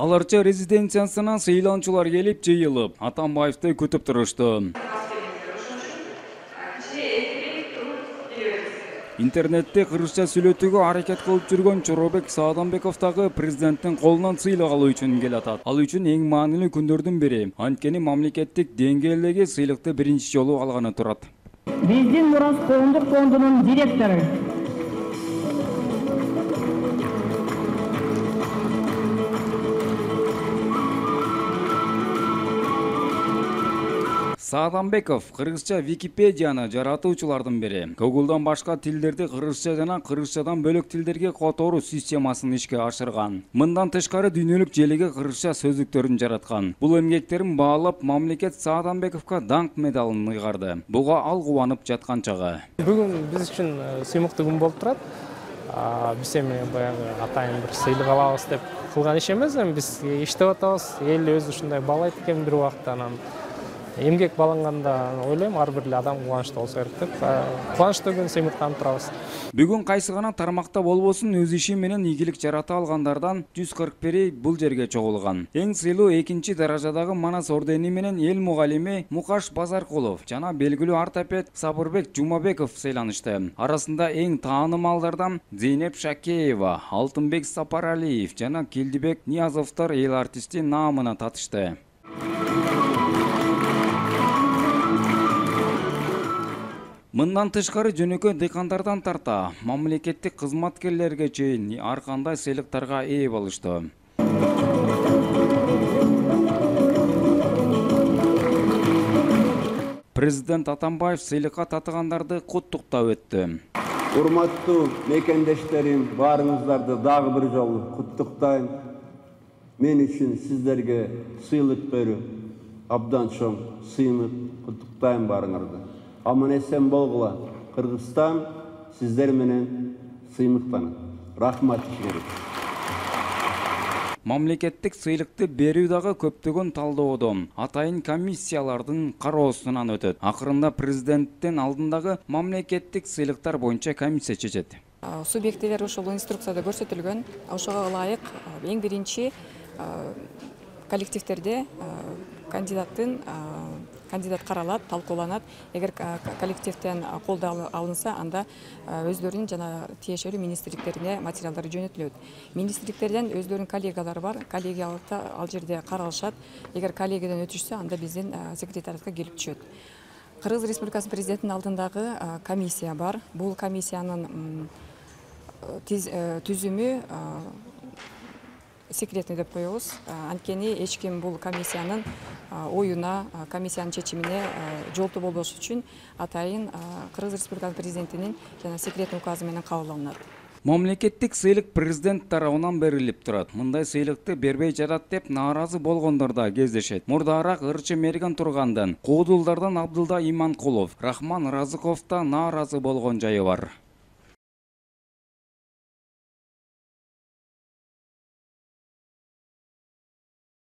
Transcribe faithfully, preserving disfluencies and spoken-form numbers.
Аларча резиденциясына сыйланчылар келип жыйылып, Атамбаевди күтүп турушту. Интернетте кыргызча сүйлөтүүгө аракет кылып жүргөн Чоробек Саадамбеков дагы президенттин колунан сыйлык алуу үчүн келатат. Ал үчүн эң маанилүү күндөрдүн бири. Анткени мамлекеттик деңгээлдеги сыйлыкты биринчи жолу алганы турат. Биздин Мурас коомдук фондунун директору Саадамбеков кыргызча Википедияны жаратуучулардын бири. Google'дан башка тилдерди кыргызча жана кыргызчадан бөлөк тилдерге которуу системасын ишке ашырган. Мындан тышкары дүйнөлүк желеге кыргызча сөздүктөрүн жараткан. Бул эмгектерин баалап мамлекет Саадамбековго даңк медалын ыйгарды. Буга ал кубанып жаткан чагы. Бүгүн биз үчүн сыймыктуу күн болуп турат. Биз эми баягы атайын бир сыйлык алабыз деп кылган иш эмес, эми биз иштеп атабыз. Эл өзү ушундай баалайт экен бир убакта, анан эмгек бааланганда ойлойм ар бир адам кубанычтуу болсо керек деп кубанычтуу күн сыймыктанып турабыз. Бүгүн кайсы гана тармакта болбосун өз иши менен ийгилик жарата алгандардан жүз кырк бири бул жерге чогулган. Эң сыйлуу экинчи даражадагы Манас ордени менен эл мугалими Мукаш Базаркулов жана белгилүү ортопед Сабырбек Жумабеков сыйланышты. Арасында эң таанымалдардан Зейнеп Шакеева, Алтынбек Сапаралиев жана Келдибек Ниязовдор эл артисти наамына татышты. Мындан тышкары жөнөкөй дыйкандардан тарта мамлекеттик кызматкерлерге чейин ар кандай сыйлыктарга ээ болушту. Президент Атамбаев сыйлыкка татыгандарды куттуктап өттү. Урматтуу мекендештерим, баарыңыздарды дагы бир жолу куттуктайм. Мен үчүн сиздерге сыйлык берүү абдан чоң сыймык. Куттуктайм баарыңарды. Аман эсен болгула. Кыргызстан сиздер менен сыймыктанат. Рахмат керек. Мамлекеттик сыйлыкты берүү дагы көптөгөн талдоодон, атайын комиссиялардын кароосунан өтөт. Акырында президенттин алдындагы мамлекеттик сыйлыктар боюнча комиссия чечет. Субъектилер ушул инструкцияда көрсөтүлгөн. Ошого ылайык эң биринчи коллективдерде кандидаттын кандидат каралат, талкууланат. Эгер коллективден колдоо алынса, анда өздөрүнүн жана тиешелүү министрликтерине материалдар жөнөтүлөт. Министрликтерден өздөрүнүн коллегалары бар, коллегиялыкта ал жерде каралышат. Эгер коллегиядан өтүшсө, анда биздин секретариатка келип түшөт. Кыргыз Республикасынын президентинин алдындагы комиссия бар. Бул комиссиянын түзүмү секретный деп коебуз. Анткени эч ким бул комиссиянын оюна, комиссиянын чечимине жолтуу болбош үчүн атайын Кыргыз Республикасынын президентинин жана секретный указы менен кабыл алынат. Мамлекеттик сыйлык президент тарабынан берилип турат. Мындай сыйлыкты бербей жатат деп нааразы болгондор да кездешет. Мурдараак ырчы мерген тургандан, Куудулдардан Абдылда Иманкулов, Рахман Разыковда нааразы болгон жайы бар.